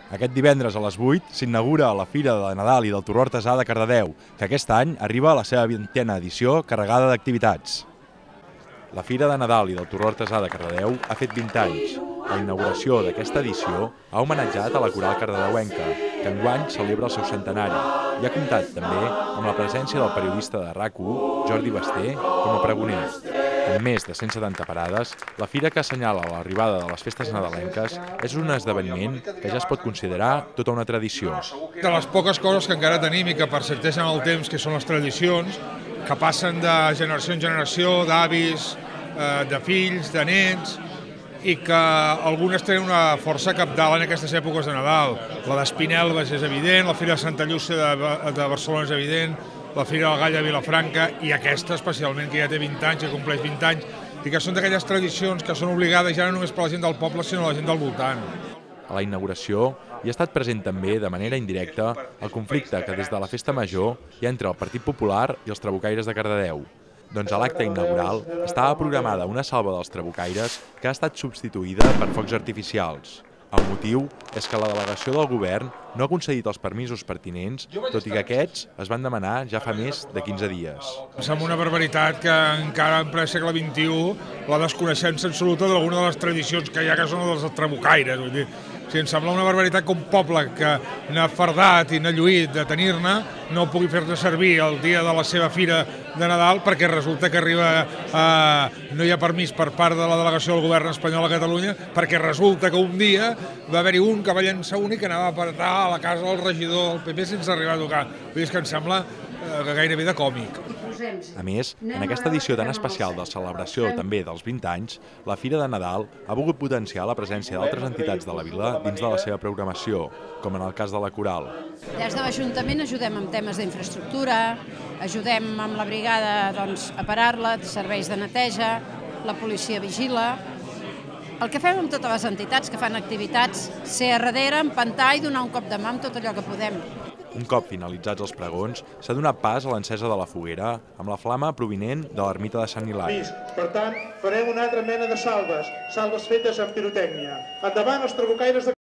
Aquest divendres a les 8 s'inaugura la Fira de Nadal i del Torró Artesà de Cardedeu, que aquest any arriba a la seva 20a edició carregada d'activitats. La Fira de Nadal i del Torró Artesà de Cardedeu ha fet 20 anys. La inauguració d'aquesta edició ha homenatjat a la coral cardedeuenca, que enguany celebra el seu centenari, i ha comptat també amb la presència del periodista de RAC1, Jordi Basté, com a pregoner. Amb més de 170 parades, la fira que assenyala l'arribada de les festes nadalenques és un esdeveniment que ja es pot considerar tota una tradició. De les poques coses que encara tenim i que persisteixen en el temps, que són les tradicions, que passen de generació en generació, d'avis, de fills, de nets, i que algunes tenen una força cabdal en aquestes èpoques de Nadal. La d'Espinelves és evident, la Fira de Santa Llúcia de Barcelona és evident, la Fira del Gall de Vilafranca i aquesta especialment, que ja té 20 anys, que compleix 20 anys, i que són d'aquelles tradicions que són obligades ja no només per la gent del poble, sinó la gent del voltant. A la inauguració hi ha estat present també, de manera indirecta, el conflicte que des de la Festa Major hi ha entre el Partit Popular i els trabucaires de Cardedeu. Doncs a l'acte inaugural estava programada una salva dels trabucaires que ha estat substituïda per focs artificials. El motiu és que la delegació del govern no ha concedit els permisos pertinents, tot i que aquests es van demanar ja fa més de 15 dies. Em sembla una barbaritat que encara en ple segle XXI la desconeixença absoluta d'alguna de les tradicions que hi ha, que són les dels trabucaires. Vull dir, em sembla una barbaritat que un poble que n'ha fardat i n'ha lluït de tenir-ne no pugui fer-ne servir el dia de la seva fira de Nadal perquè resulta que no hi ha permís per part de la delegació del govern espanyol a Catalunya, perquè resulta que un dia va haver-hi un que va llançar un i que anava a apretar a la casa del regidor del PP sense arribar a tocar. Vull dir, que em sembla gairebé de còmic. A més, en aquesta edició tan especial de celebració també dels 20 anys, la Fira de Nadal ha volgut potenciar la presència d'altres entitats de la vila dins de la seva programació, com en el cas de la coral. Des de l'Ajuntament ajudem amb temes d'infraestructura, ajudem amb la brigada a parar-la, serveis de neteja, la policia vigila. El que fem amb totes les entitats que fan activitats, ser a darrere, empantar i donar un cop de mà amb tot allò que podem. Un cop finalitzats els pregons, s'ha donat pas a l'encesa de la foguera amb la flama provinent de l'ermita de Sant Hilari. Per tant, farem una altra mena de salves fetes amb pirotècnia. Endavant els trabucaires de